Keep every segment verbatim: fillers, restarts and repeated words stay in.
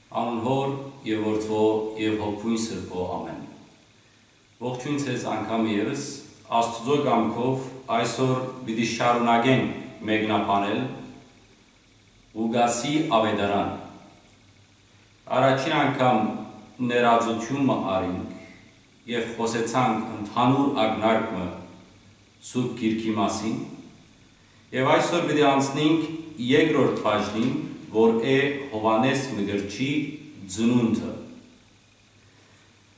Անուն Հօր եւ Որդւոյ եւ Հոգւոյն Սրբոյ, ամէն։ Ողջոյն ձեզ անգամ ևս, Աստուծոյ կամքով այսօր պիտի շարունակենք մեկնաբանել Ղուկասի Աւետարան։ Առաջին անգամ ներածութիւն մը առինք եւ խօսեցանք ընդհանուր ակնարկ մը Սուրբ Գիրքի մասին, եւ այսօր պիտի անցնենք երկրորդ բաժնին, որ է Յովհաննէս Մկրտչի ծնունդը։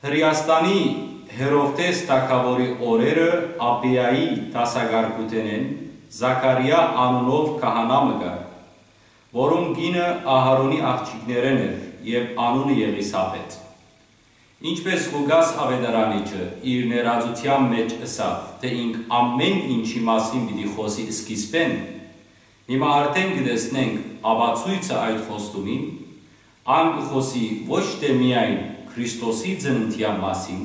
Հրէաստանի Հերովդէս թագաւորի օրերը Աբիայի դասակարգութենէն Զաքարիա անունով քահանայ մը կար, որուն կինը Ահարոնի աղջիկներէն էր եւ անունը Եղիսաբէթ։ Ինչպէս Ղուկաս աւետարանիչը իր ներածութեան մէջ ըսաւ, թէ ինք ամէն ինչի մասին պիտի խօսի սկիզբէն, հիմա արդէն կը տեսնենք ապացոյցը այդ խոստումին, ան կը խօսի ոչ թէ միայն Քրիստոսի ծննդեան մասին,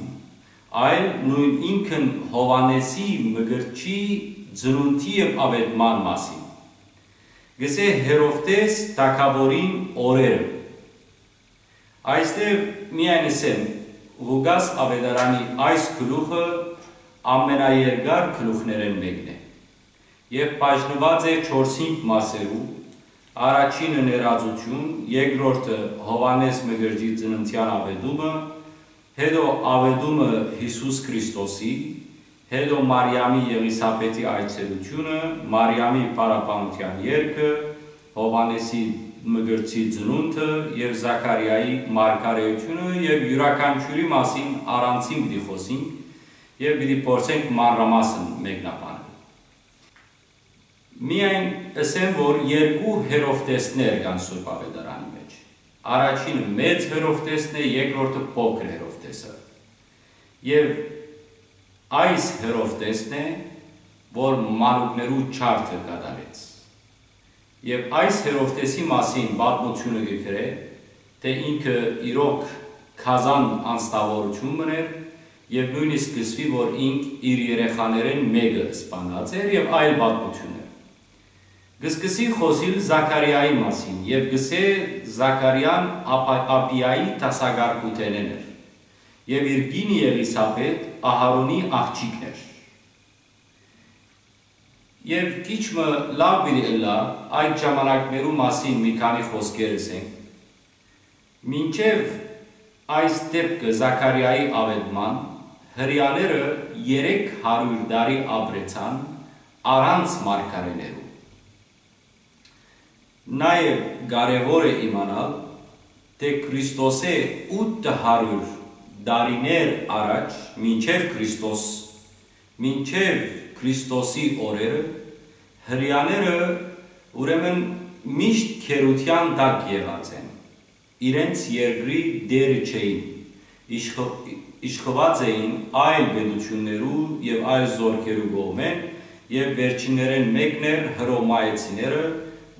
այլ նոյն ինքն Յովհաննէսի Մկրտչի ծնունդի եւ աւետման մասին։ Կ'ըսէ Հերովդէս թագաւորին օրերը։ Այստեղ միայն ըսեմ, Ղուկաս աւետարանի այս գլուխը ամենաերկար գլուխներէն մէկն է եւ բաժնուած է չորսինգ մասերու, առաջինը ներածութիւն, երկրորդը Յովհաննէս Մկրտչի ծննդեան աւետումը, հետո աւետումը Յիսուս Քրիստոսի, հետո Մարիամի Եղիսաբէթի այցելութիւնը, Մարիամի փառաբանութեան երգը, Յովհաննէսի Մկրտչի ծնունդը եւ Զաքարիայի մարգարէութիւնը եւ իւրաքանչիւրի մասին առանձին պիտի խօսենք եւ պիտի փորձենք մանրամասն մեկնաբանել։ Միայն ըսեմ, որ երկու Հերովդէսներ կան Սուրբ Աւետարանի մէջ։ Առաջինը մեծ Հերովդէսն է, երկրորդը փոքր Հերովդէսը։ Եւ այս Հերովդէսն է, որ մանուկներու ջարդը կատարեց։ Եւ այս Հերովդէսի մասին պատմութիւնը կը գրէ, թէ ինքը իրոք գազան անձնաւորութիւն մըն էր եւ նոյնիսկ կ'ըսուի, որ ինք իր երեխաներէն մէկը սպանած էր եւ այլ պատմութիւններ։ Կը սկսի խօսիլ Զաքարիայի մասին եւ կ'ըսէ Զաքարիան Աբա-, Աբիայի դասակարգութենէն էր եւ իր կինը Եղիսաբէթ Ահարոնի աղջիկն էր։ Եւ քիչ մը լաւ պիտի ըլլայ, այդ ժամանակներու մասին մի քանի խօսքեր ըսենք։ Մինչեւ այս դէպքը Զաքարիայի աւետման, հրեաները երեք հարիւր տարի ապրեցան առանց մարգարէներու։ Նաեւ կարեւոր է իմանալ, թէ Քրիստոսէ ութ հարիւր տարիներ առաջ, մինչեւ Քրիստոս, մինչեւ Քրիստոսի օրերը, հրեաները ուրեմն միշտ գերութեան տակ եղած են, իրենց երկրի տէրը չէին, իշխ-, իշխուած էին այլ պետութիւններու եւ այլ զօրքերու կողմէն, եւ վերջիններէն մէկն էր հռոմայեցիները,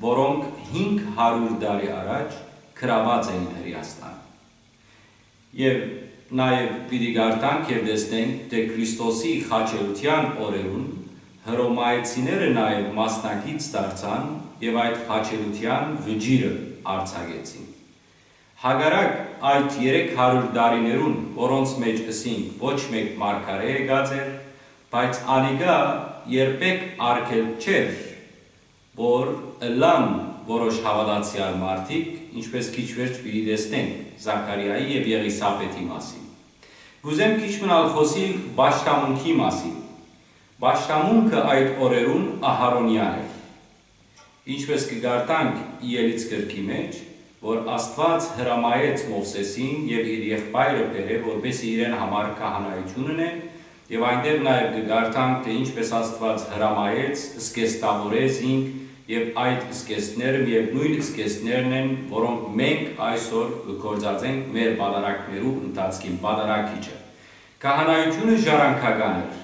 որոնք հինգ հարիւր տարի առաջ գրաւած էին Հրէաստան։ Եւ նաեւ պիտի կարդանք եւ տեսնենք, թէ Քրիստոսի խաչելութեան օրերուն հռոմայեցիները նաեւ մասնակից դարձան եւ այդ խաչելութեան վճիռը արձակեցին։ Հակառակ այդ երեք հարիւր տարիներուն, որոնց մէջ ըսինք ոչ մէկ մարգարէ եկած էր, բայց անիկա երբեք արգելք չէր, որ ըլլան որոշ հաւատացեալ մարդիկ, ինչպէս քիչ վերջ պիտի տեսնենք Զաքարիայի եւ Եղիսաբեթի մասին։ Կ'ուզեմ քիչ մնալ խօսիլ պաշտամունքի մասին։ Պաշտամունքը այդ օրերուն Ահարոնեան էր։ Ինչպէս կը կարդանք Ելից գրքի մէջ, որ Աստուած հրամայեց Մովսէսին եւ իր եղբայրը բերէ, որպէսզի իրեն համար քահանայութիւն ընեն, եւ այնտեղ նաեւ կը կարդանք, թէ ինչպէս Աստուած հրամայեց, զգեստաւորէ զինք, եւ այդ զգեստները միեւ նոյն զգեստներն են, որոնք մենք այսօր կը գործածենք մեր պատարագներու ընթացքին, պատարագիչը։ Քահանայութիւնը ժառանգական էր,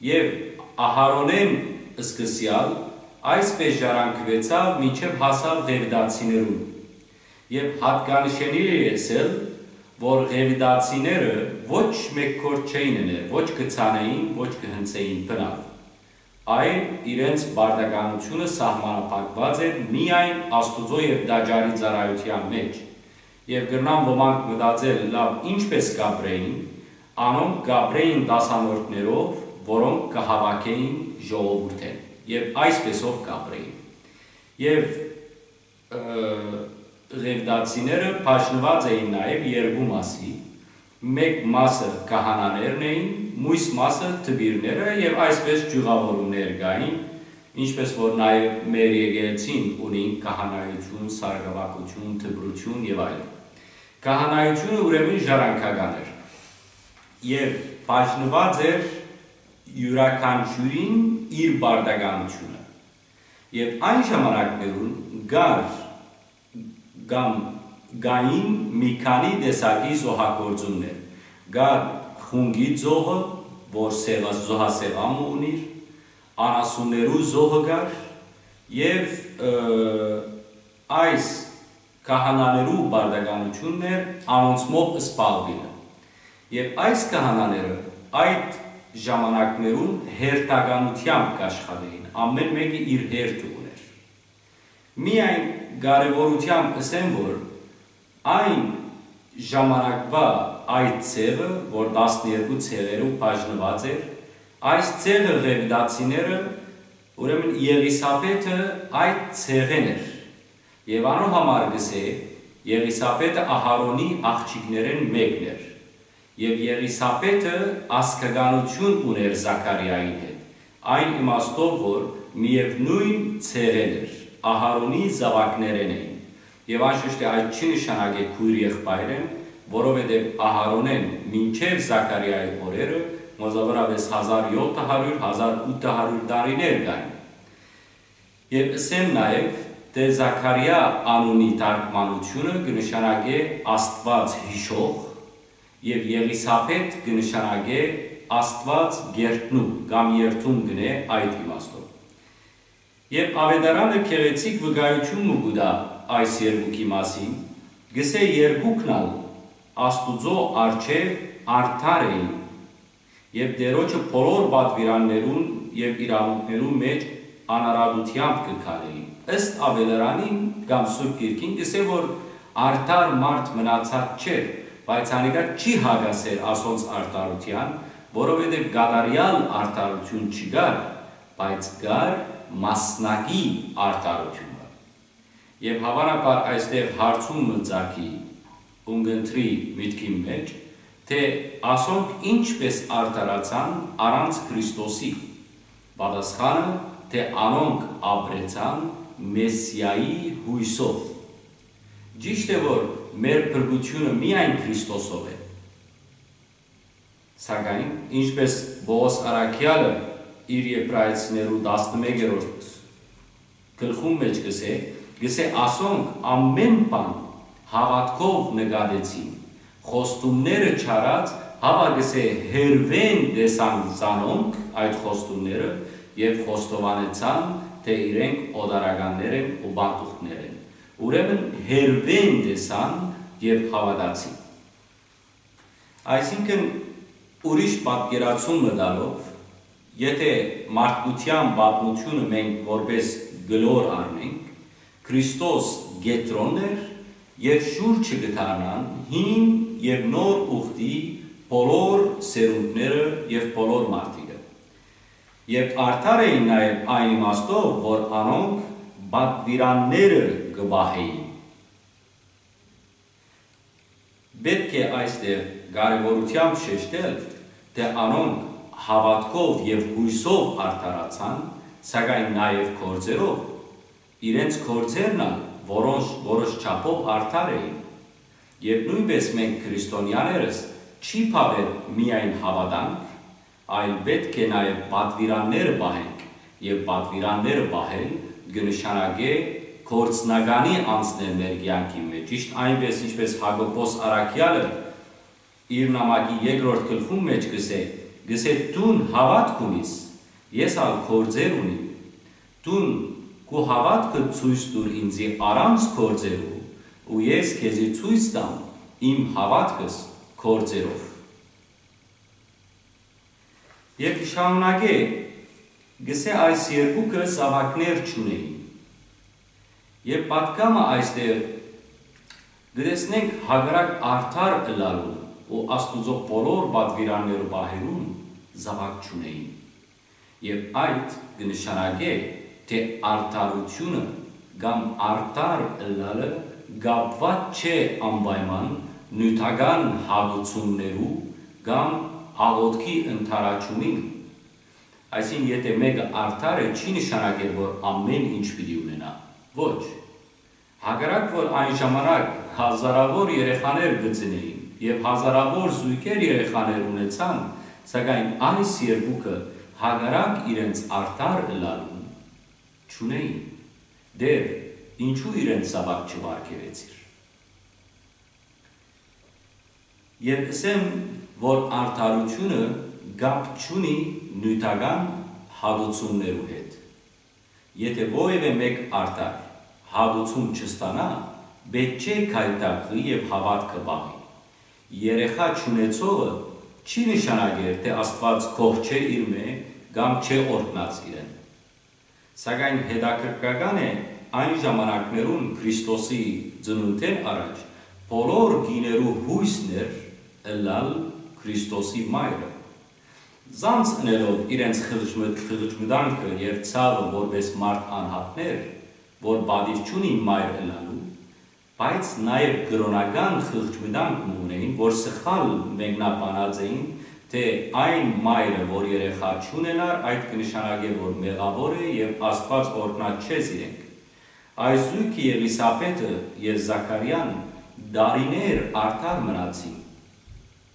եւ Ահարոնէն սկսեալ այսպէս ժառանգուեցաւ մինչեւ հասաւ ղևտացիներուն։ Եւ յատկանշելի է ըսել, որ ղևտացիները ոչ մէկ գործ չէին ըներ, ոչ կը ցանէին, ոչ կը հնձէին բնաւ, այլ իրենց պարտականութիւնը սահմանափակուած էր միայն Աստուծոյ եւ տաճարի ծառայութեան մէջ։ Եւ կրնան ոմանք մտածել, լաւ, ինչպէս կապրէին, անոնք կապրէին դասանորդներով, որոնք կը հաւաքէին ժողովուրդէն, եւ այսպէսով կապրէին։ Եւ, ը, ղեւտացիները բաժնուած էին նաեւ երկու մասի, մէկ մասը քահանաներն էին, միւս մասը դպիրները, եւ այսպէս ճիւղաւորումներ կային, ինչպէս որ նաեւ մեր եկեղեցին ունին քահանայութիւն, սարկավագութիւն, դպրութիւն եւ այլն։ Քահանայութիւնը ուրեմն ժառանգական էր եւ բաժնուած էր յուրաքանչիւրին իր պարտականութիւնը։ Եւ այն ժամանակներուն կար կամ կային մի քանի տեսակի զոհագործումներ։ Կար խունկի զոհը, որ սեղա-, զոհասեղան մը ունիր, անասուններու զոհը կար եւ, ը, այս քահանաներու պարտականութիւնն էր անոնցմով զբաղուիլը։ Եւ այս քահանաները այդ ժամանակներուն հերթականութեամբ կաշխատէին, ամէն մէկը իր հերթը ունէր։ Միայն կարեւորութեամբ ըսեմ, որ այն ժամանակվա այդ ցեղը, որ տասներկու ցեղերու բաժնուած էր, այս ցեղը ղեւտացիները, ուրեմն Եղիսաբեթը այդ ցեղէն էր։ Եւ անոր համար կ'ըսէ, Եղիսաբեթը Ահարոնի աղջիկներէն մէկն էր։ Եւ Եղիսաբեթը ազգականութիւն ունէր Զաքարիային հետ, այն իմաստով, որ միեւնոյն ցեղէն էր, Ահարոնի զաւակներէն էին։ Եւ անշուշտ է, այդ չի նշանակէ քոյր եղբայրէն, որովհետեւ Ահարոնէն մինչեւ Զաքարիայի օրերը մոզաւորապէս հազար յոթ հարիւր, հազար ութ հարիւր տարիներ կային։ Եւ ըսեմ նաեւ, թէ Զաքարիա անունի թարգմանութիւնը կը նշանակէ Աստուած յիշող, եւ Եղիսաբեթ կը նշանակէ Աստուած գերդնու կամ երդում կ'ընէ այդ իմաստով։ Եւ Աւետարանը գեղեցիկ վկայութիւն մը կու տայ այս երկուքի մասին, կ'ըսէ, երկուքն ալ Աստուծոյ առջեւ արդար էին, եւ Տէրոջը բոլոր պատուիրաններուն եւ իրաւունքներուն մէջ անարատութեամբ կը քալէին։ Ըստ Աւետարանին կամ Սուրբ Գիրքին կ'ըսէ, որ արդար մարդ մնացած չէր, բայց անիկա չի հակասեր ասոնց արդարութեան, որովհետեւ կատարեալ արդարութիւն չկար, բայց կար մասնակի արդարութիւնը։ Եւ հաւանաբար այստեղ հարցում մը ծագի, ունկնդրի միտքին մէջ, թէ ասոնք ինչպէս արդարացան առանց Քրիստոսի։ Պատասխանը, թէ անոնք ապրեցան Մեսիայի յոյսով։ Ճիշդ է, որ մեր փրկութիւնը միայն Քրիստոսով է, սակայն, ինչպէս Պողոս առաքեալը իր Եբրայեցիներու տասնմեկերորդ գլխուն մէջ կ'ըսէ, կ'ըսէ, ասոնք ամէն բան հաւատքով նկատեցին, խոստումները չարած, հապա կ'ըսէ, հերուէն տեսան զանոնք այդ խոստումները եւ խոստովանեցան, թէ իրենք օտարականներ են ու պանդուխտներ են։ Ուրեմն հերուէն տեսան եւ հաւատացին։ Այսինքն, ուրիշ պատկերացում մը տալով, եթէ մարդկութեան պատմութիւնը մենք որպէս կլոր առնենք, Քրիստոս կեդրոնն էր եւ շուրջը կը դառնան հին եւ նոր ուխտի բոլոր սերունդները եւ բոլոր մարդիկը։ Եւ արդար էին նաեւ այն իմաստով, որ անոնք պատուիրանները կը պահէին։ Պէտք է այստեղ կարեւորութեամբ շեշտել, թէ անոնք հաւատքով եւ յոյսով արդարացան, սակայն նաեւ գործերով։ Իրենց գործերն ալ որոշ, որոշ չափով արդար էին։ Եւ նոյնպէս մենք քրիստոնեաներս չի բաւեր միայն հաւատանք, այլ պէտք է նաեւ պատուիրանները պահենք, եւ պատուիրանները պահել կը նշանակէ գործնականի անցնել մեր կեանքին մէջ, ճիշդ այնպէս, ինչպէս Յակոբոս առաքեալը իր նամակի երկրորդ գլխուն մէջ կ'ըսէ, կ'ըսէ. «Դուն հաւատք ունիս, ես ալ գործեր ունիմ։ Դուն քու հաւատքը ցոյց տուր ինծի առանց գործերու, ու ես քեզի ցոյց տամ իմ հաւատքս գործերով»։ Եւ կը շարունակէ, կ'ըսէ. «Այս երկուքը զաւակներ չունէին»։ Եւ պատգամը այստեղ Կը տեսնենք հակառակ արդար ըլլալուն ու Աստուծոյ բոլոր պատուիրանները պահելուն զաւակ չունէին։ Եւ այդ կը նշանակէ, թէ արդարութիւնը կամ արդար ըլլալը կապուած չէ անպայման նիւթական հատուցումներու կամ աղօթքի ընդառաջումին։ Այսինքն, եթէ մէկը արդար է, չի նշանակեր, որ ամէն ինչ պիտի ունենայ։ Ոչ։ Հակառակ որ այն ժամանակ հազարաւոր երեխաներ կը ծնէին եւ հազարաւոր զոյգեր երեխաներ ունեցան, սակայն այս երկուքը հակառակ իրենց արդար ըլլալուն չունէին։ Դեռ ինչու իրենց զաւակ չպարգեւեցիր։ Եւ ըսեմ, որ արդարութիւնը կապ չունի նիւթական հատուցումներու հետ։ Եթէ որեւէ մէկ արդար հատուցում չստանայ, պէտք չէ գայթակղի եւ հաւատքը պահի։ Երեխայ չունեցողը չի նշանակեր, թէ Աստուած գոհ չէ իրմէ կամ չէ օրհնած իրեն։ Սակայն հետաքրքրական է, այն ժամանակներուն Քրիստոսի ծնունդէն առաջ բոլոր կիներու յոյսն էր ըլլալ Քրիստոսի մայրը։ Զանց ընելով իրենց խղճ-, խղճմտանքը եւ ցաւը որպէս մարդ անհատներ, որ պատիւ չունին մայր ըլլալու, բայց նաեւ կրօնական խղճմտանք մը ունէին, որ սխալ մեկնաբանած էին, թէ այն մայրը, որ երեխայ չունենար, այդ կը նշանակէ, որ մեղաւոր է եւ Աստուած օրհնած չէ զիրենք։ Այս զոյգը Եղիսաբէթը եւ Զաքարիան տարիներ արդար մնացին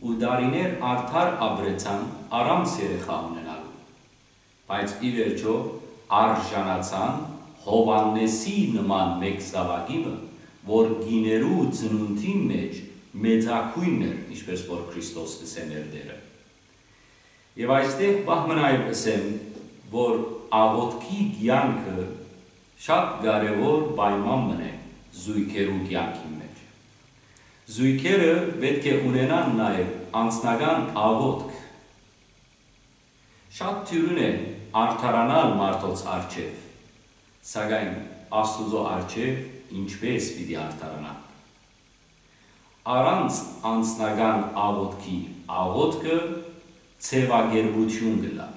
ու տարիներ արդար ապրեցան առանց երեխայ ունենալու։ Բայց ի վերջոյ արժանացան Յովհաննէսի նման մէկ զաւակի մը, որ կիներու ծնունդին մէջ մեծագոյնն էր, ինչպէս որ Քրիստոս կ'ըսէ մեր Տէրը։ Եւ այստեղ պահ մը նաեւ ըսեմ, որ աղօթքի կեանքը շատ կարեւոր պայման մըն է զոյգերու կեանքին մէջ։ Զոյգերը պէտք է ունենան նաեւ անձնական աղօթք։ Շատ դիւրին է արդարանալ մարդոց առջեւ, սակայն Աստուծոյ առջեւ ինչպէս պիտի արդարանանք։ Առանց անձնական աղօթքի աղօթքը ձեւակերպութիւն կ'ըլլայ։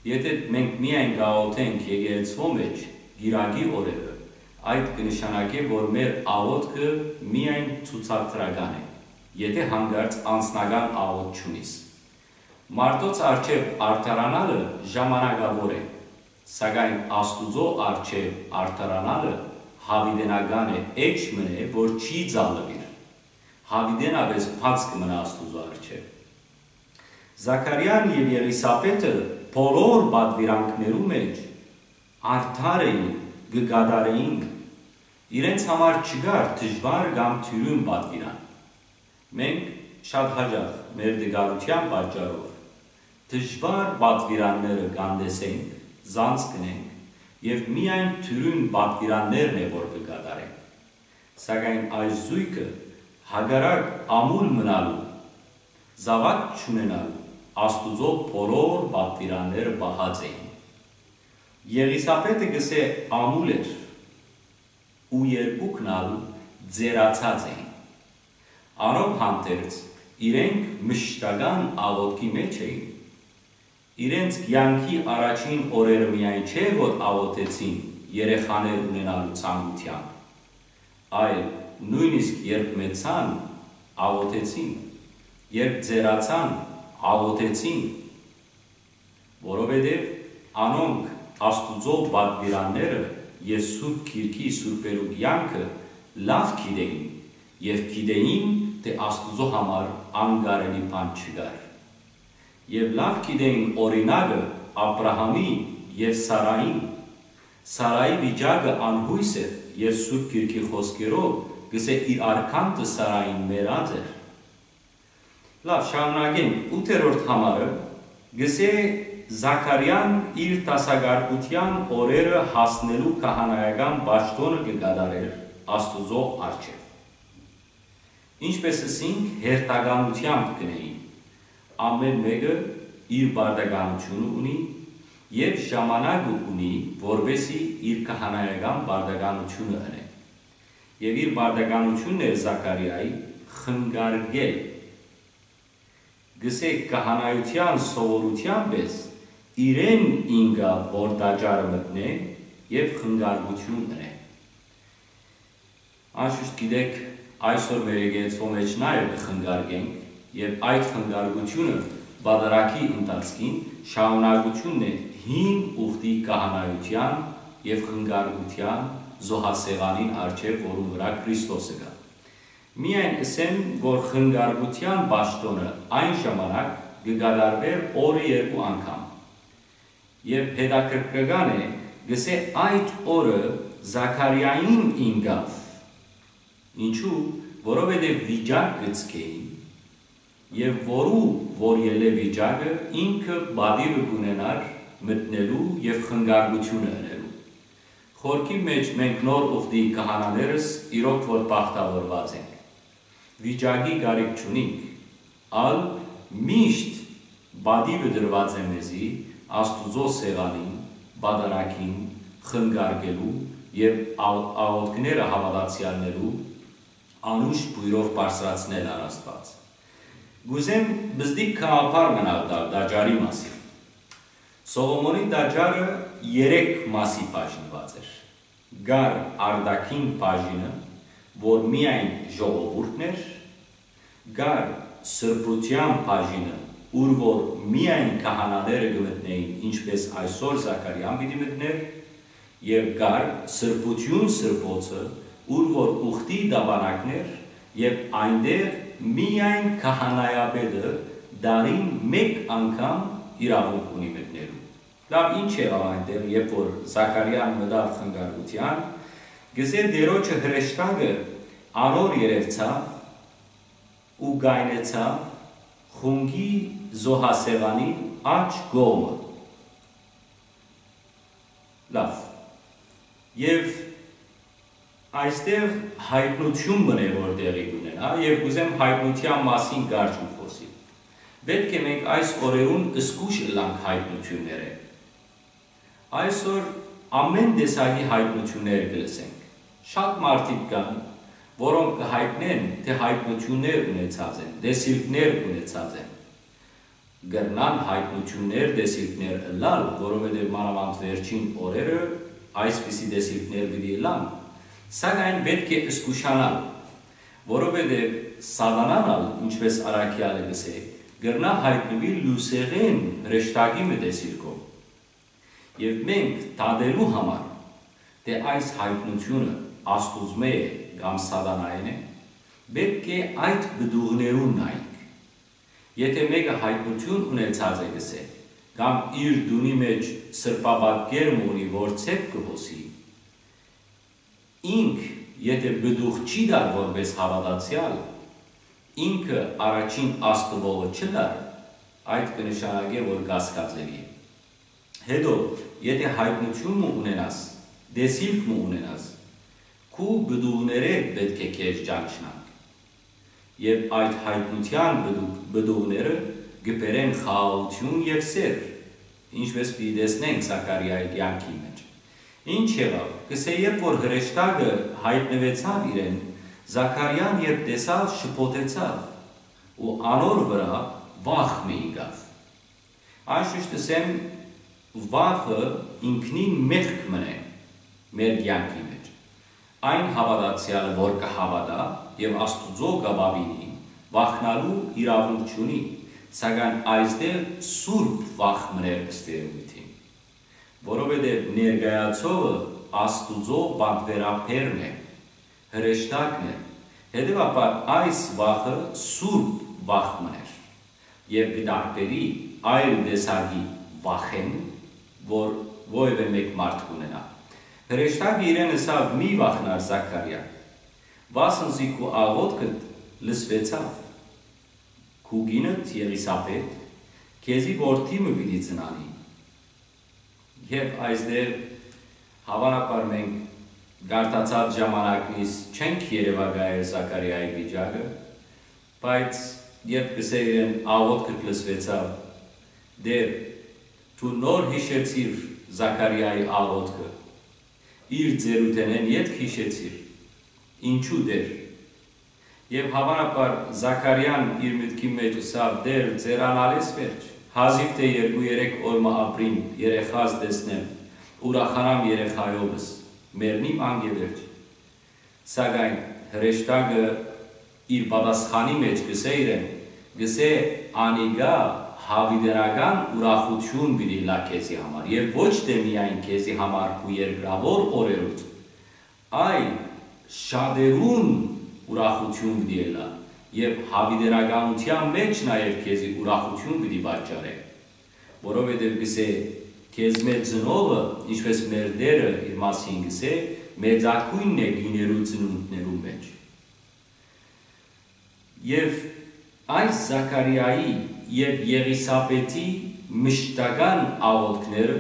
Եթէ մենք միայն կաղօթենք եկեղեցւոյ մէջ կիրակի օրերը, այդ կը նշանակէ, որ մեր աղօթքը միայն ցուցադրական է, եթէ յանկարծ անձնական աղօթք չունիս։ Մարդոց առջեւ արդարանալը ժամանակաւոր է, սակայն Աստուծոյ առջեւ արդարանալը յաւիտենական է, էջ մըն է, որ չի ծալուիր, յաւիտենապէս բաց կը մնայ Աստուծոյ առջեւ։ Զաքարիան եւ Եղիսաբէթը բոլոր պատուիրանքներու մէջ արդար էին, կը կատարէին։ Իրենց համար չկար դժուար կամ դիւրին պատուիրան։ Մենք շատ յաճախ մեր տկարութեան պատճառով դժուար պատուիրանները կ'անտեսենք, զանց կ'ընենք եւ միայն դիւրին պատուիրաններն է, որ կը կատարենք։ Սակայն այս զոյգը, հակառակ ամուլ մնալու, զաւակ չունենալու, Աստուծոյ բոլոր պատուիրանները պահած էին։ Եղիսաբէթը կ'ըսէ՝ ամուլ էր, ու երկուքն ալ ծերացած էին։ Անով հանդերձ իրենք մշտական աղօթքի մէջ էին։ Իրենց կեանքի առաջին օրերը միայն չէ, որ աղօթեցին երեխաներ ունենալու ցանկութեամբ, այլ նոյնիսկ երբ մեծցան, աղօթեցին, երբ ծերացան, աղօթեցին, որովհետեւ անոնք Աստուծոյ պատուիրանները եւ Սուրբ Գիրքի սուրբերու կեանքը լաւ գիտէին եւ գիտէին, թէ Աստուծոյ համար անկարելի բան չկար։ Եւ լաւ գիտէին օրինակը Աբրահամի եւ Սարային։ Սարայի վիճակը անյոյս էր եւ Սուրբ Գիրքի խօսքերով կ'ըսէ՝ իր արկանքը Սարային մեռած էր։ Լաւ, շարունակենք։ Ութերորդ համարը կ'ըսէ՝ Զաքարիան իր դասակարգութեան օրերը հասնելու քահանայական պաշտօնը կը կատարէր Աստուծոյ առջեւ։ Ինչպէս ըսինք, հերթականութեամբ կ'ընէին։ Ամէն մէկը իր պարտականութիւնը ունի եւ ժամանակը ունի, որպէսզի իր քահանայական պարտականութիւնը ընէ։ Եւ իր պարտականութիւնն էր Զաքարիայի խնկարկել։ Կ'ըսէ, քահանայութեան սովորութեան պէս իրեն ինկաւ որ տաճարը մտնէ եւ խնկարկութիւն ընէ։ Անշուշտ գիտէք, այսօր մեր եկեղեցւոյ մէջ նաեւ կը խնկարկենք եւ այդ խնկարկութիւնը պատարագի ընթացքին շարունակութիւնն է հին ուխտի քահանայութեան եւ խնկարկութեան զոհասեղանին առջեւ, որուն վրայ Քրիստոսը կայ։ Միայն ըսեմ, որ խնկարկութեան պաշտօնը այն ժամանակ կը կատարուէր օրը երկու անգամ։ Եւ հետաքրքրական է, կ'ըսէ, այդ օրը Զաքարիային ինկաւ։ Ինչու՞, որովհետեւ վիճակ կը ձգէին, եւ որու որ ելլէ վիճակը, ինքը պատիվը կ'ունենար մտնելու եւ խնկարկութիւնը ընելու։ Խորքի մէջ մենք նոր ուխտի քահանաներս իրոք որ բախտաւորուած ենք։ Վիճակի կարիք չունինք, ալ միշտ պատիվը տրուած է մեզի Աստուծոյ սեղանին, պատարագին խնկարկելու եւ աղ-, աղօթքները հաւատացեալներու անուշ բոյրով բարձրացնել առ Աստուած։ Կ'ուզեմ պզտիկ գաղափար մնալ տալ տաճարի մասին։ Սողոմոնի տաճարը երեք մասի բաժնուած էր։ Կար արտաքին բաժինը, որ միայն ժողովուրդն էր, կար սրբութեան բաժինը, ուր որ միայն քահանաները կը մտնէին, ինչպէս այսօր Զաքարիան պիտի մտնէր, եւ կար սրբութիւն սրբոցը, ուր որ ուխտի տապանակն էր, եւ այնտեղ միայն քահանայապետը տարին մէկ անգամ իրաւունք ունի մտնելու։ Լաւ, ինչ եղաւ այնտեղ, երբ որ Զաքարիան մտաւ խնկարկութեան, կ'ըսէ, Տէրոջը հրեշտակը անոր երեւցաւ ու կայնեցաւ խունկի զոհասեղանին աջ կողմը։ Լաւ։ Եւ այստեղ յայտնութիւն մըն է, որ տեղի կ'ունենայ, եւ կ'ուզեմ յայտնութեան մասին կարճ մը խօսիլ։ Պէտք է մենք այս օրերուն զգոյշ ըլլանք յայտնութիւններէն։ Այսօր ամէն տեսակի յայտնութիւններ կը լսենք։ Շատ մարդիկ կան, որոնք կը յայտնեն, թէ յայտնութիւններ ունեցած են, տեսիլքներ ունեցած են։ Կրնան յայտնութիւններ, տեսիլքներ ըլլալ, որովհետեւ մանաւանդ վերջին օրերը այսպիսի տեսիլքներ պիտի ըլլան, սակայն պէտք է զգուշանալ, որովհետեւ Սատանան ալ, ինչպէս առաքեալը կ'ըսէ, կրնայ յայտնուիլ լուսեղէն հրեշտակի մը տեսիլքով։ Եւ մենք դատելու համար, թէ այս յայտնութիւնը Աստուծմէ է կամ Սատանայէն է, պէտք է այդ պտուղներուն նայենք։ Եթէ մէկը յայտնութիւն ունեցած է, կ'ըսէ, կամ իր տունի մէջ սրբապատկեր մը ունի, որ ձեռք կը հոսի, ինք եթէ պտուղ չի տար որպէս հաւատացեալ, ինքը առաջին Աստուծմէ չըլլար, այդ կը նշանակէ, որ կասկածելի է։ Հետո, եթէ յայտնութիւն մը ունենաս, տեսիլք մը ունենաս, քու պտուղներէ պէտք է քեզ ճանչնանք։ Եւ այդ յայտնութեան պտուղ-, պտուղները կը բերեն խաղաղութիւն եւ սեր, ինչպէս պիտի տեսնենք Զաքարիայի կեանքին մէջ։ Ինչ եղաւ, կ'ըսէ, երբ որ հրեշտակը յայտնուեցաւ իրեն, Զաքարիան երբ տեսաւ, շփոթեցաւ ու անոր վրայ վախ մը եկաւ։ Անշուշտ ըսեմ, վախը ինքնին մեղք մըն է մեր կեանքի մէջ։ Այն հաւատացեալը, որ կը հաւատայ եւ Աստուծոյ կը պապինի, վախնալու իրաւունք չունի, սակայն այստեղ սուրբ վախ մըն էր, ըստ երևոյթին, որովհետեւ ներկայացողը Աստուծոյ պատվերաբերն է, հրեշտակն է, հետեւաբար այս վախը սուրբ վախ մըն էր եւ կը տարբերի այլ տեսակի վախէն, որ որեւէ մէկ մարդ կ'ունենայ։ Հրեշտակը իրեն ըսաւ. «Մի վախնար, Զաքարիա, վասն զի քու աղօթքդ լսուեցաւ, քու կինդ Եղիսաբեթ քեզի որդի մը պիտի ծնանի»։ Եւ այստեղ, հաւանաբար, մենք կարդացած ժամանակնից չենք երեւակայել Զաքարիայի վիճակը, բայց երբ կ'ըսէ իրեն. «Աղօթքդ լսուեցաւ», Տէր, դու նոր յիշեցիր Զաքարիայի աղօթքը, իր ծերութենէն ետք յիշեցիր, Ինչո՞ւ Տէր։ Եւ հաւանաբար Զաքարիան իր մտքի մէջ ըսաւ. «Տէր, ձերանալես վերջ։ Հազիւ թէ երկու երեք օր մը ապրիմ, երեխաս տեսնեմ, ուրախանամ երեխայովս, մեռնիմ անկէ վերջ»։ Սակայն հրեշտակը իր պատասխանի մէջ կ'ըսէ իրեն, կ'ըսէ. «Անիկա յաւիտենական ուրախութիւն պիտի ըլլայ քեզի համար, եւ ոչ թէ միայն քեզի համար քու երկրաւոր օրերուդ, այլ շատերուն ուրախութիւն պիտի ըլլայ, եւ յաւիտենականութեան մէջ նաեւ քեզի ուրախութիւն պիտի պատճառէ, որովհետեւ կ'ըսէ. քեզմէ ծնողը, ինչպէս մեր Տէրը իր մասին կ'ըսէ, մեծագոյնն է կիներու ծնունդներուն մէջ»։ Եւ այս Զաքարիայի եւ Եղիսաբեթի մշտական աղօթքները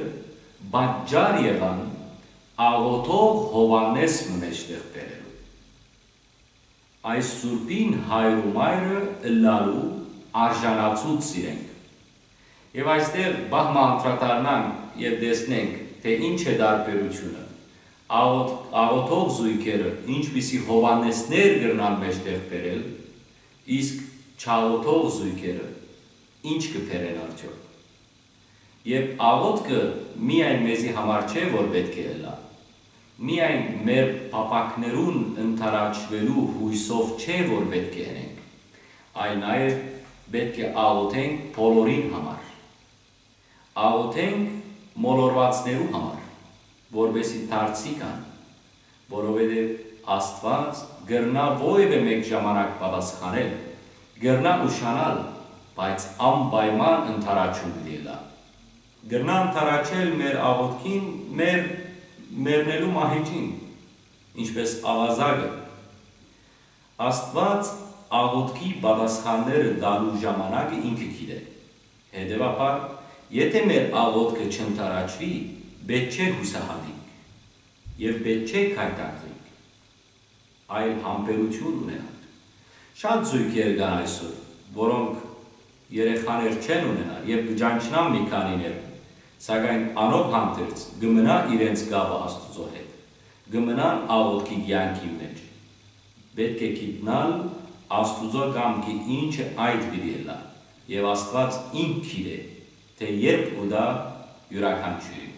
պատճառ եղան աղօթող Յովհաննէս մը մէջտեղ բերելու։ Այս սուրբին հայր ու մայրը ըլլալու արժանացուց զիրենք։ Եւ այստեղ պահ մը անդրադառնանք եւ տեսնենք, թէ ինչ է տարբերութիւնը։ Աղօթ-, աղօթող զոյգերը ինչպիսի Յովհաննէսներ կրնան մէջտեղ բերել, իսկ չաղօթող զոյգերը ինչ կը բերեն արդեօք։ Եւ աղօթքը միայն մեզի համար չէ, որ պէտք է ըլլայ։ Միայն մեր փափաքներուն ընդառաջուելու յոյսով չէ, որ պէտք է ընենք, այլ նաեւ պէտք է աղօթենք բոլորին համար։ Աղօթենք մոլորուածներու համար, որպէսզի դարձի գան, որովհետեւ Աստուած կրնայ որեւէ մէկ ժամանակ պատասխանել, կրնայ ուշանալ, բայց անպայման ընդառաջում պիտի ըլլայ։ Կրնայ ընդառաջել մեր աղօթքին մեր մեռնելու մահիճին, ինչպէս աւազակը։ Աստուած աղօթքի պատասխանները տալու ժամանակը ինքը գիտէ։ Հետեւաբար, եթէ մեր աղօթքը չընդառաջուի, պէտք չէ յուսահատինք եւ պէտք չէ գայթակղինք, այլ համբերութիւն ունենանք։ Շատ զոյգեր կան այսօր, որոնք երեխաներ չեն ունենար եւ կը ճանչնան մի քանիներ, սակայն անով հանդերձ կը մնայ իրենց կապը Աստուծոյ հետ, կը մնան աղօթքի կեանքին մէջ։ Պէտք է գիտնալ Աստուծոյ կամքը ինչը այդ պիտի ըլլայ, եւ Աստուած ինք գիտէ, թէ երբ կու տայ իւրաքանչիւրին։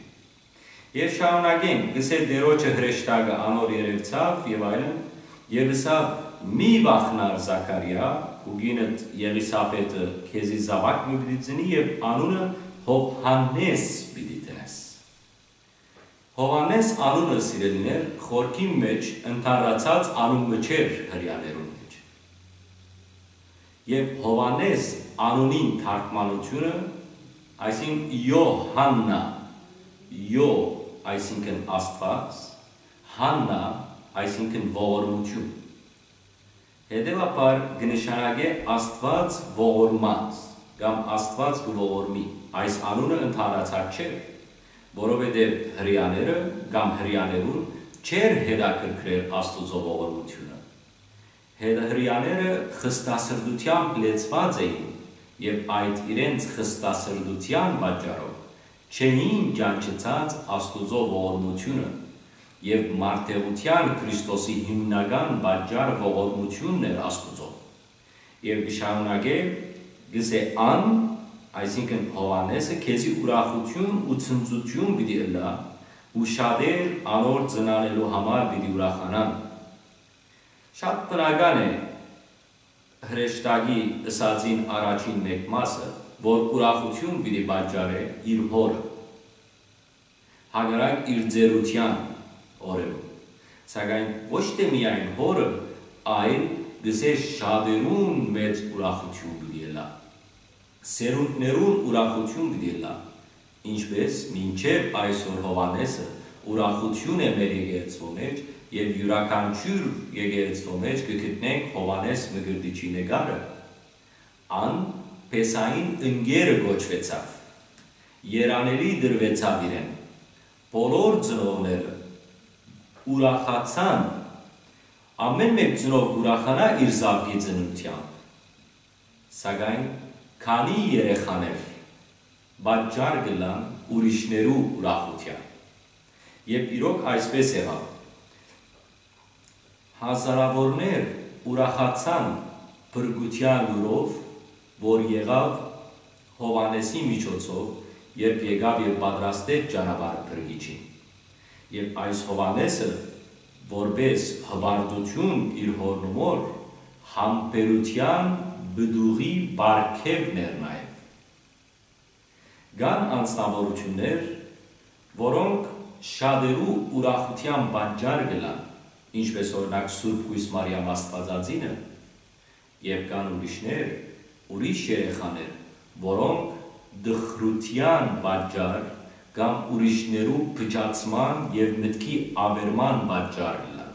Եւ շարունակենք, կ'ըսէ Տէրոջը հրեշտակը անոր երեւցաւ եւ այլն, եւ ըսաւ. «Մի վախնար, Զաքարիա, ու կինդ Եղիսաբեթը քեզի զաւակ մը պիտի ծնի եւ անունը Յովհաննէս պիտի դնես»։ Յովհաննէս անունը, սիրելիներ, խորքին մէջ ընդհանրացած անուն մը չէր հրեաներուն մէջ։ Եւ Յովհաննէս անունին թարգմանութիւնը, այսինքն Յովհաննա, Յո, այսինքն Աստուած, Հաննա, այսինքն ողորմութիւն։ Հետեւաբար կը նշանակէ Աստուած ողորմած կամ Աստուած կը ողորմի։ Այս անունը ընդհանրացած չէր, որովհետեւ հրեաները կամ հրեաներուն չէր հետաքրքրեր Աստուծոյ ողորմութիւնը։ Հրեաները խստասրտութեամբ լեցուած էին եւ այդ իրենց խստասրտութեան պատճառով չէին ճանչցած Աստուծոյ ողորմութիւնը, եւ մարտեղութեան Քրիստոսի հիմնական պատճառը ողորմութիւնն էր Աստուծոյ։ Եւ կը շարունակէ, կ'ըսէ. «Ան, այսինքն Յովհաննէսը, քեզի ուրախութիւն ու ցնծութիւն պիտի ըլլայ, ու շատեր անոր ծնանելու համար պիտի ուրախանան»։ Շատ բնական է հրեշտակի ըսածին առաջին մէկ մասը, որ ուրախութիւն պիտի պատճառէ իր հօրը, հակառակ իր ծերութեան օրերուն, սակայն ոչ թէ միայն հօրը, այլ կ'ըսէ շատերուն մեծ ուրախութիւն պիտի ըլլայ, սերունդներուն ուրախութիւն պիտի ըլլայ, ինչպէս մինչեւ այսօր Յովհաննէսը ուրախութիւն է մեր եկեղեցւոյ մէջ, եւ իւրաքանչիւր եկեղեցւոյ մէջ կը գտնենք Յովհաննէս Մկրտիչի նկարը։ Ան Փեսային ընկերը կոչուեցաւ, երանելի տրուեցաւ իրեն։ Բոլոր ծնողները ուրախացան, ամէն մէկ ծնող կ'ուրախանայ իր զաւկի ծննդեամբ, սակայն քանի երեխաներ պատճառ կ'ըլլան ուրիշներու ուրախութեան։ Եւ իրոք այսպէս եղաւ։ Հազարաւորներ ուրախացան փրկութեան լուրով, որ եղաւ Յովհաննէսի միջոցով, երբ եկաւ եւ պատրաստեց ճանապարհը Փրկիչին։ Եւ այս Յովհաննէսը, որպէս հպարտութիւն իր հօրն ու մօր, համբերութեան պտուղի պարգեւն էր նաեւ։ Կան անձնաւորութիւններ, որոնք շատերու ուրախութեան պատճառ կ'ըլլան, ինչպէս օրինակ Սուրբ Կոյս Մարիամ Աստուածածինը, եւ կան ուրիշներ, ուրիշ երեխաներ, որոնք տխրութեան պատճառ կամ ուրիշներու փչացման եւ մտքի աւերման պատճառ կ'ըլլան։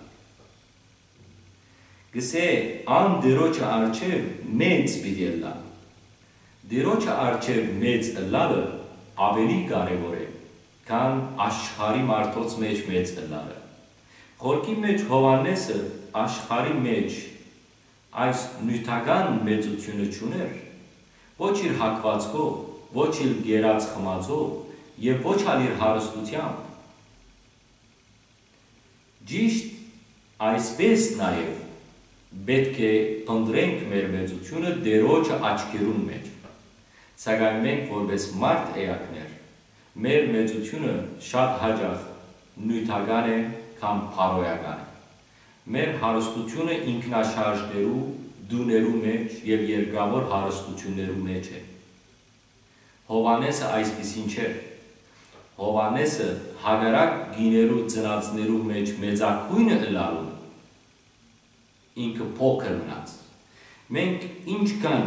Կ'ըսէ. «Ան Տիրոջը առջեւ մեծ պիտի ըլլայ»։ Տիրոջը առջեւ մեծ ըլլալը աւելի կարեւոր է, քան աշխարհի մարդոց մէջ մեծ ըլլալը։ Խորքի մէջ Յովհաննէսը աշխարհի մէջ այս նիւթական մեծութիւնը չունէր, ոչ իր հագուածքով, ոչ իր կերած խմածով եւ ոչ ալ իր հարստութեամբ։ Ճիշդ այսպէս նաեւ պէտք է փնտռենք մեր մեծութիւնը Տիրոջը աչքերուն մէջ, սակայն մենք որպէս մարդ էակներ, մեր մեծութիւնը շատ յաճախ նիւթական է կամ բարոյական է։ Մեր հարստութիւնը ինքնաշարժներու, տուներու մէջ եւ երկրաւոր հարստութիւններու մէջ է։ Յովհաննէսը այսպիսին չէր։ Յովհաննէսը, հակառակ կիներու ծնածներու մէջ մեծագոյնը ըլլալուն, ինքը փոքր մնաց։ Մենք ինչքան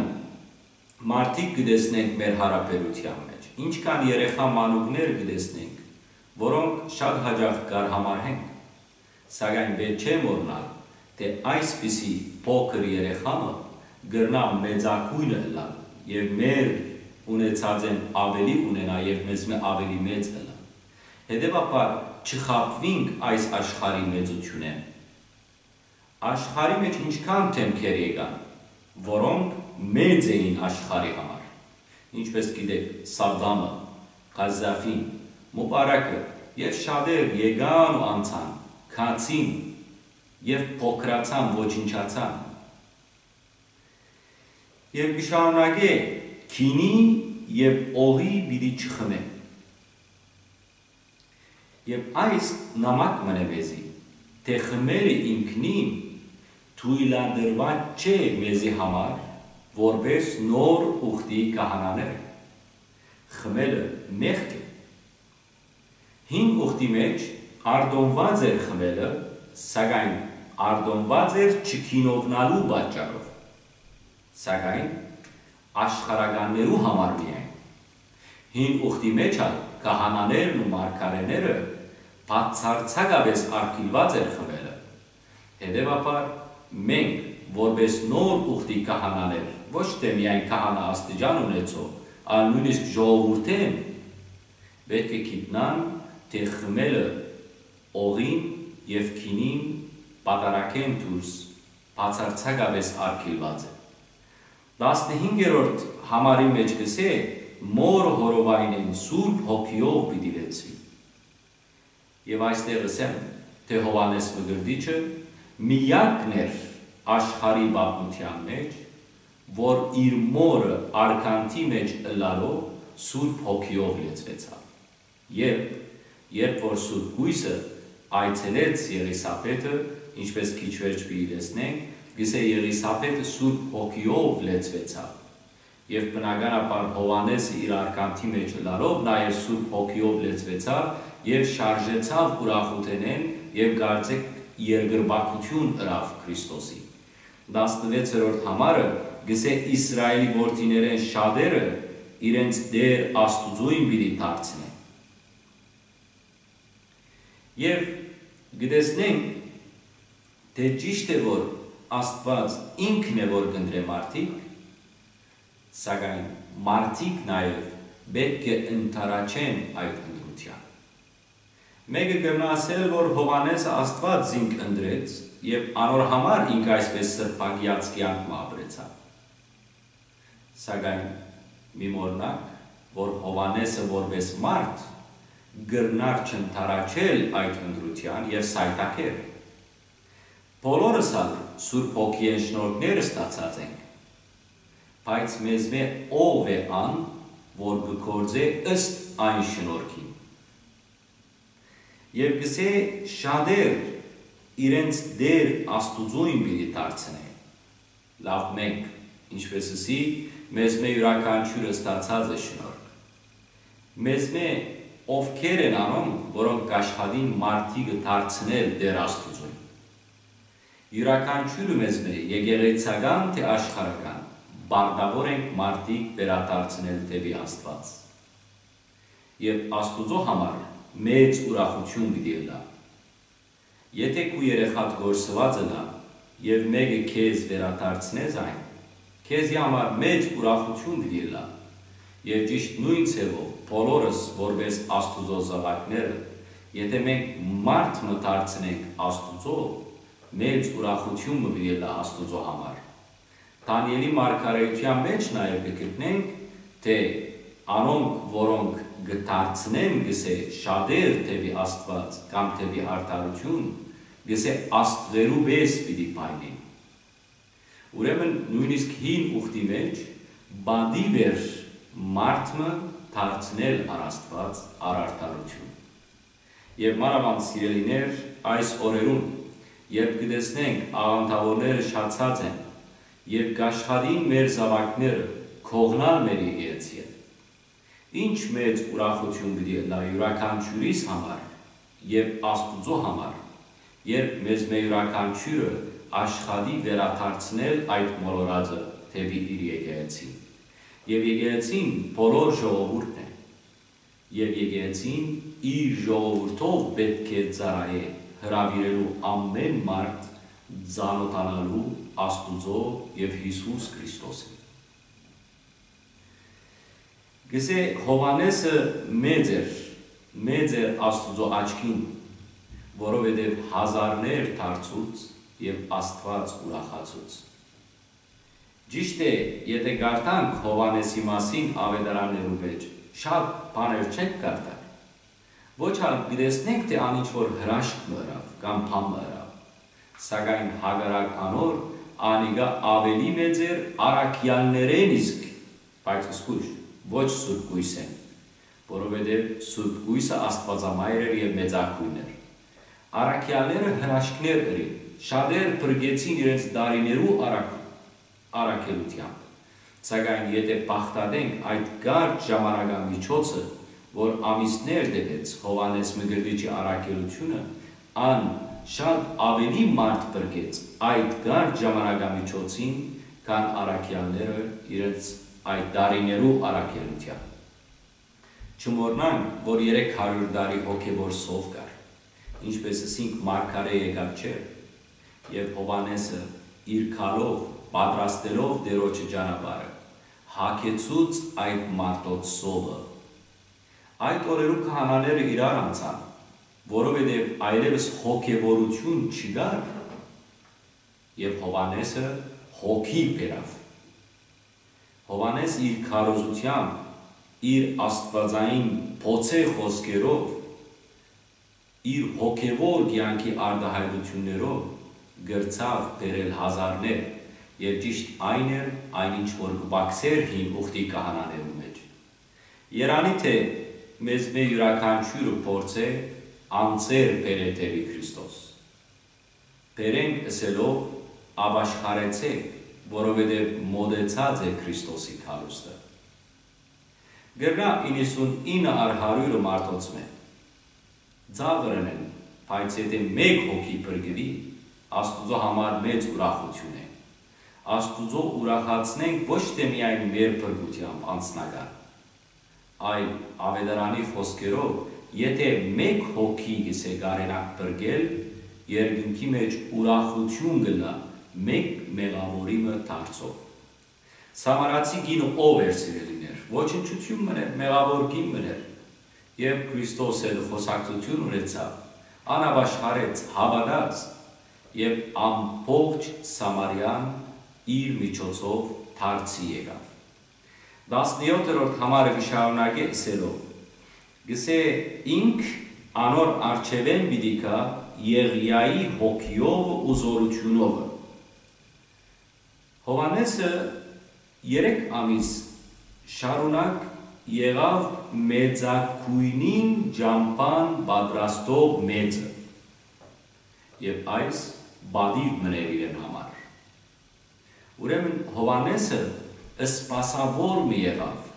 մարդիկ կը տեսնենք մեր յարաբերութեան մէջ, ինչքան երեխայ մանուկներ կը տեսնենք, որոնք շատ յաճախ կ'արհամարհենք, սակայն պէտք չէ մոռնալ, թէ այսպիսի փոքր երեխայ մը կրնայ մեծագոյնը ըլլալ եւ մեր ունեցածէն աւելի ունենայ եւ մեզմէ աւելի մեծ ըլլայ։ Հետեւաբար, չխաբուինք այս աշխարհի մեծութիւնէն։ Աշխարհի մէջ ինչքան դէմքեր եկան, որոնք մեծ էին աշխարհի համար, ինչպէս գիտէք, Սադամը, Ղազաֆին, Մուպարակը եւ շատեր եկան ու անցան, գացին եւ փոքրացան, ոչնչացան։ Եւ կը շարունակէ. «Գինի եւ օղի պիտի չխմէ»։ Եւ այս նամակ մըն է մեզի, թէ խմելը ինքնին թոյլատրուած չէ մեզի համար, որպէս նոր ուխտի քահանաներ։ Խմելը մեղք է։ Հին ուխտի մէջ արտոնուած էր խմելը, սակայն արտոնուած էր չգինովնալու պատճառով, սակայն աշխարհականներու համար միայն։ Հին ուխտի մէջ ալ քահանաներն ու մարգարէները բացարձակապէս արգիլուած էր խմելը։ Հետեւաբար, մենք, որպէս նոր ուխտի քահանաներ, ոչ թէ միայն քահանայ աստիճան ունեցող, այլ նոյնիսկ ժողովուրդէն, պէտք է գիտնանք, թէ խմելը օղին եւ գինին պատարագէն դուրս բացարձակապէս արգիլուած է։ Տասնհինգերորդ համարի մէջ կ'ըսէ. «Մօրը հորովայնէն Սուրբ Հոգիով պիտի լեցուի»։ Եւ այստեղ ըսեմ, թէ Յովհաննէս Մկրտիչը միակն էր աշխարհի պատմութեան մէջ, որ իր մօրը արգանթի մէջ ըլլալով Սուրբ Հոգիով լեցուեցաւ։ Երբ, երբ որ Սուրբ Կոյսը այցելեց Եղիսաբեթը, ինչպէս քիչ վերջ պիտի տեսնենք, կ'ըսէ. «Եղիսաբեթը Սուրբ Հոգիով լեցուեցաւ»։ Եւ բնականաբար Յովհաննէսը իր արգանթի մէջ ըլլալով նաեւ Սուրբ Հոգիով լեցուեցաւ եւ շարժեցաւ ուրախութենէն եւ կարծէք երկրպագութիւն ըրաւ Քրիստոսի։ Տասնվեցերորդ համարը կ'ըսէ. «Իսրայէլի որդիներէն շատերը իրենց Տէր Աստուծոյն պիտի դարձնեն»։ Եւ կը տեսնենք, թէ ճիշդ է, որ Աստուած ինքն է, որ կ'ընտրէ մարդիկ, սակայն մարդիկ նաեւ պէտք է ընդառաջեն այդ ընտրութեան։ Մէկը կրնայ ըսել, որ Յովհաննէսը Աստուած զինք ընտրեց եւ անոր համար ինք այսպէս սրբագեաց կեանք մը ապրեցաւ։ Սակայն մի մոռնանք, որ Յովհաննէսը որպէս մարդ կրնար չընդառաջել այդ ընտրութեան եւ սայթաքել։ Բոլորս ալ Սուրբ Հոգիէն շնորհքներ ստացած ենք, բայց մեզմէ ո՞վ է ան, որ կը գործէ ըստ այն շնորհքին։ Եւ կ'ըսէ. «Շատեր իրենց Տէր Աստուծոյն պիտի դարձնէ»։ Լաւ, մենք, ինչպէս ըսի, մեզմէ իւրաքանչիւրը ստացած է շնորհք։ Մեզմէ ովքեր են անոնք, որոնք կ'աշխատին մարդիկը դարձնել Տէր Աստուծոյն։ Իւրաքանչիւրը մեզմէ, եկեղեցական թէ աշխարհական, պարտաւոր ենք մարդիկ վերադարձնել դէպի Աստուած։ Եւ Աստուծոյ համար մեծ ուրախութիւն պիտի ըլլայ։ Եթէ քու երեխադ կորսուած ըլլայ եւ մէկը քեզ վերադարձնէ զայն, քեզի համար մեծ ուրախութիւն պիտի ըլլայ։ Եւ ճիշդ նոյն ձեւով, բոլորս որպէս Աստուծոյ զաւակները, եթէ մենք մարդ մը դարձնենք Աստուծոյ, մեծ ուրախութիւն մը պիտի ըլլայ Աստուծոյ համար։ Դանիէլի մարգարէութեան մէջ նաեւ կը գտնենք, թէ անոնք, որոնք կը դարձնեն, կ'ըսէ, շատեր դէպի Աստուած կամ դէպի արդարութիւն, կ'ըսէ, աստղերու պէս պիտի փայլին։ Ուրեմն նոյնիսկ հին ուխտի մէջ պատիւ էր մարդ մը դարձնել առ Աստուած, առ արդարութիւն։ Եւ մանաւանդ, սիրելիներ, այս օրերուն, երբ կը տեսնենք աղանդաւորները շատացած են եւ կ'աշխատին մեր զաւակները կողնալ մեր եկեղեցիէն, ինչ մեծ ուրախութիւն պիտի ըլլայ իւրաքանչիուրիս համար եւ Աստուծոյ համար, երբ մեզմէ իւրաքանչիուրը աշխատի վերադարձնել այդ մոլորածը դէպի իր եկեղեցին։ Եւ եկեղեցին բոլոր ժողովուրդն է։ Եւ եկեղեցին իր ժողովուրդով պէտք է ծառայէ, հրաւիրելու ամէն մարդ ծանօթանալու Աստուծոյ եւ Յիսուս Քրիստոսին։ Կ'ըսէ, Յովհաննէսը մեծ էր, մեծ էր Աստուծոյ աչքին, որովհետեւ հազարներ դարձուց եւ Աստուած ուրախացուց։ Ճիշդ է, եթէ կարդանք Յովհաննէսի մասին Աւետարաններու մէջ, շատ բաներ չենք կարդար։ Ոչ ալ կը տեսնենք, թէ ան ինչ որ հրաշք մը ըրաւ կամ բան մը ըրաւ, սակայն հակառակ անոր, անիկա աւելի մեծ էր առաքեալներէն իսկ, բայց զգոյշ, ոչ սուրբ կոյսէն, որովհետեւ սուրբ կոյսը աստուածամայր էր եւ մեծագոյն էր։ Առաքեալները հրաշքներ ըրին, շատեր փրկեցին իրենց տարիներու առաքուն առաքելութեամբ, սակայն եթէ բաղդատենք այդ կարճ ժամանակամիջոցը, որ ամիսներ տեւեց Յովհաննէս Մկրտիչի առաքելութիւնը, ան շատ աւելի մարդ փրկեց այդ կարճ ժամանակամիջոցին, քան առաքեալները իրենց այդ տարիներու առաքելութեան։ Չմոռնանք, որ երեք հարիւր տարի հոգեւոր սով կար, ինչպէս ըսինք, մարգարէ եկած չէր, եւ Յովհաննէսը իր գալով, պատրաստելով Տէրոջը ճանապարհը, հագեցուց այդ մարդոց սովը։ Այդ օրերու քահանաները իրար անցան, որովհետեւ այլեւս հոգեվորութիւն չկար, եւ Յովհաննէսը հոգի բերաւ։ Յովհաննէս իր քարոզութեամբ, իր աստուածային բոցե խօսքերով, իր հոգեվոր կեանքի արտայայտութիւններով կրցաւ բերել հազարներ, եւ ճիշդ այն էր, այն ինչ որ կը պակսէր հին ուխտի քահանաներու մէջ։ Երանի թէ մեզմէ իւրաքանչիւրը փորձէ անձեր բերէ դէպի Քրիստոս։ Բերենք ըսելով, ապաշխարեցէք, որովհետեւ մօտեցած է Քրիստոսի գալուստը։ Կրնայ իննսունինը առ հարիւրը մարդոցմէ ծաղր ընեն, բայց եթէ մէկ հոգի փրկուի, Աստուծոյ համար մեծ ուրախութիւն է։ Աստուծոյ ուրախացնենք ոչ թէ միայն մեր փրկութեամբ անձնական, այլ Աւետարանի խօսքերով, եթէ մէկ հոգի կ'ըսէ կարենաք փրկել, երկնքի մէջ ուրախութիւն կ'ըլլայ մէկ մեղաւորի մը դարձով։ Սամարացի կինը ո՞վ էր, սիրելիներ, ոչնչութիւն մըն էր, մեղաւոր կին մըն էր, եւ Քրիստոս հետ խօսակցութիւն ունեցաւ, ան ապաշխարեց, հաւատաց, եւ ամբողջ Սամարիան իր միջոցով դարձի եկաւ։ Տասնեօթերորդ համարը կը շարունակէ ըսելով. «Կ'ըսէ, ինք անոր առջեւէն պիտի գայ Եղիայի հոգիովը ու զօրութիւնովը։ Յովհաննէսը երեք ամիս շարունակ եղաւ մեծագոյնին ճամբան պատրաստող մեծը, եւ այս պատիւ մըն էր իրեն համար։ Ուրեմն Յովհաննէսը սպասաւոր մը եղաւ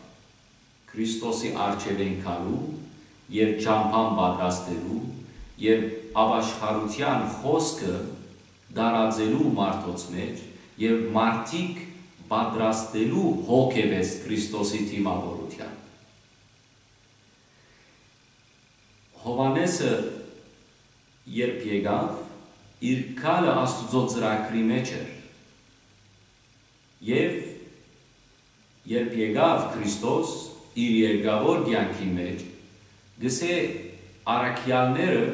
Քրիստոսի առջեւէն գալու եւ ճամբան պատրաստելու եւ ապաշխարութեան խօսքը տարածելու մարդոց մէջ եւ մարդիկ պատրաստելու հոգեվէս Քրիստոսի դիմաւորութեան։ Յովհաննէսը երբ եկաւ, իր գալը Աստուծոյ ծրագրի մէջ էր։ Եւ երբ եկաւ Քրիստոս իր երկրաւոր կեանքին մէջ, գսէ առաքեալները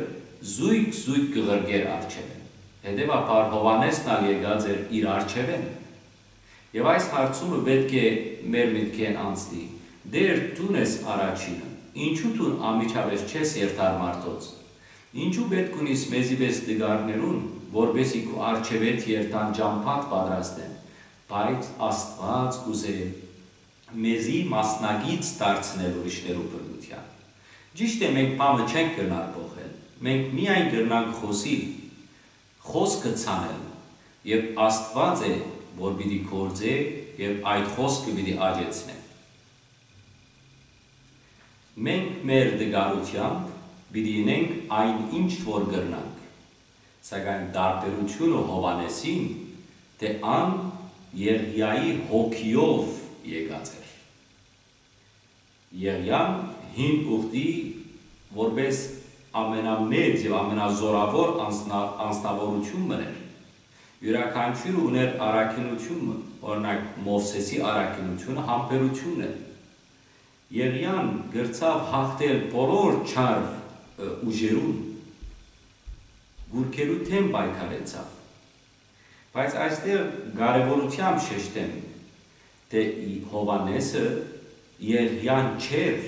զոյգ-զոյգ կը ղրկէր առջեւէն։ Հետեւաբար Յովհաննէսն ալ եկած էր իր առջեւէն։ Եւ այս հարցումը պէտք է մեր մտքէն անցնի. «Տէր, դուն ես առաջինը, ինչո՞ւ դուն անմիջապէս չես երթար մարդոց։ Ինչո՞ւ պէտք ունիս մեզի պէս տկարներուն, որպէսզի քու առջեւէդ երթան ճամբադ պատրաստեն»։ Բայց Աստուած կ'ուզէ մեզի մասնակից դարձնել ուրիշներու բռնութեան։ Ճիշդ է, մենք բանը չենք կրնար փոխել, մենք միայն կրնանք խօսիլ, խօսքը ցանել, եւ Աստուած է, որ պիտի գործէ եւ այդ խօսքը պիտի աճեցնէ։ Մենք մեր տկարութեամբ պիտի ընենք այն ինչ որ կրնանք, սակայն տարբերութիւնը Յովհաննէսին, թէ ան Եղիայի հոգիով եկած էր։ Եղիան հին ուխտի որպէս ամենամեծ եւ ամենազօրաւոր անձնա-, անձնաւորութիւն մըն էր։ Իւրաքանչիւրը ունէր առաքինութիւն մը, օրինակ, Մովսէսի առաքինութիւնը համբերութիւնն է։ Եղիան կրցաւ յաղթել բոլոր չար, ը, ուժերուն, գուրքերու դէմ պայքարեցաւ։ Բայց այստեղ կարեւորութեամբ շեշտեմ, թէ ի-, Յովհաննէսը Եղիան չէր,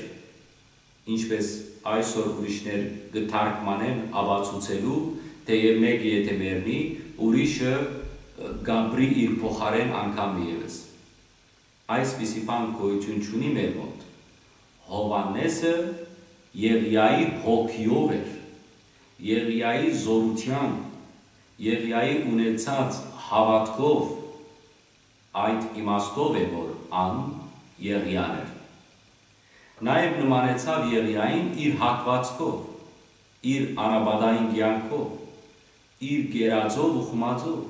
ինչպէս այսօր ուրիշներ կը թարգմանեն ապացուցելու, թէ եւ մէկը եթէ մեռնի, ուրիշը, ը, կ'ապրի իր փոխարէն անգամ ևս։ Այսպիսի բան գոյութիւն չունի մեր մօտ։ Յովհաննէսը Եղիայի հոգիով էր, Եղիայի զօրութեան, Եղիայի ունեցած հաւատքով, այդ իմաստով է, որ ան Եղիան էր։ Նաեւ նմանեցաւ Եղիային իր հագուածքով, իր անապատային կեանքով, իր կերածով ու խմածով։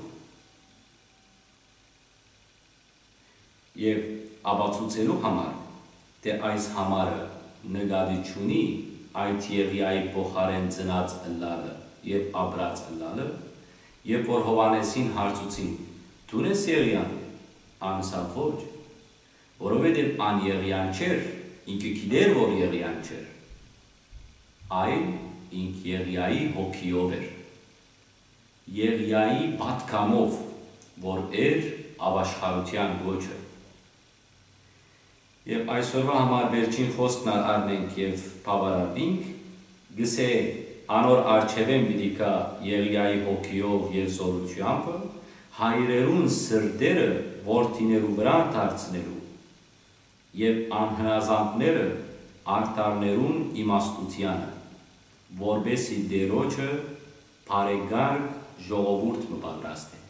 Եւ ապացուցելու համար, թէ այս համարը նկատի չունի այդ Եղիայի փոխարէն ծնած ըլլալը եւ ապրած ըլլալը, երբ որ Յովհաննէսին հարցուցին. «Դո՞ւն ես Եղիան»։ Ան ըսաւ. «Ոչ, որովհետեւ ան Եղիան չէր, ինքը գիտեր, որ Եղիան չէր, այլ ինք Եղիայի հոգիով էր, Եղիայի պատգամով, որ էր ապաշխարութեան կոչը»։ Եւ այսօրվա համար վերջին խօսքն ալ առնենք եւ բաւարարուինք, գսէ. «Անոր առջեւէն պիտի գայ Եղիայի հոգիով եւ զօրութեամբը, հայրերուն սրտերը որդիներու վրայ դարձնելու եւ անհնազանդները արդարներուն իմաստութեանը, որպէսզի Տէրոջը բարեկարգ ժողովուրդ մը պատրաստէ»։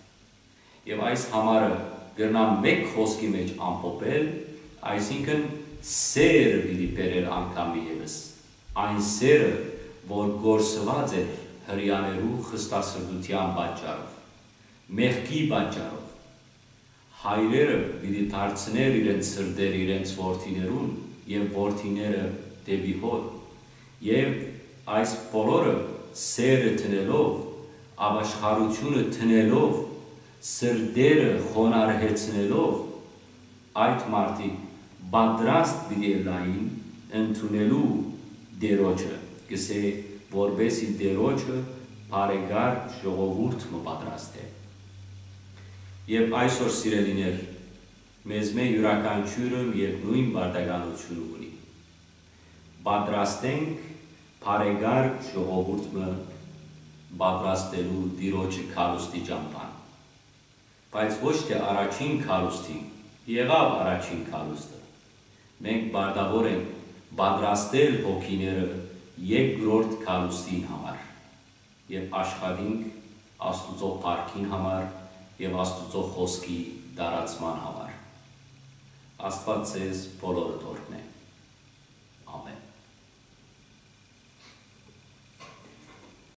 Եւ այս համարը կրնամ մէկ խօսքի մէջ ամփոփել, այսինքն՝ սերը պիտի բերէր անգամ ևս, այն սերը, որ կորսուած էր Հրեաներու խստասրտութեան պատճառով, մեղքի պատճառով։ Հայրերը պիտի դարձնէր իրենց սրտերը իրենց որդիներուն եւ որդիները դէպի հօր։ Եւ այս բոլորը սերը դնելով, ապաշխարութիւնը դնելով, սրտերը խոնարհեցնելով, այդ մարդիկ պատրաստ պիտի ըլլային ընդունելու Տէրոջը, կսէ, որպէսզի Տէրոջը բարեկարգ ժողովուրդ մը պատրաստէ։ Եւ այսօր, սիրելիներ, մեզմէ իւրաքանչիւրը եւ նոյն պարտականութիւնը ունի։ Պատրաստենք բարեկարգ ժողովուրդ մը պատրաստելու Տիրոջը գալուստի ճամբան։ Բայց ոչ թէ առաջին գալուստին, եղաւ առաջին գալուստը։ Մենք պարտաւոր ենք պատրաստել հոգիները երկրորդ գալուստին համար եւ աշխատենք Աստուծոյ փառքին համար եւ Աստուծոյ խօսքի տարածման համար։ Աստուած ձեզ բոլորը օրհնէ։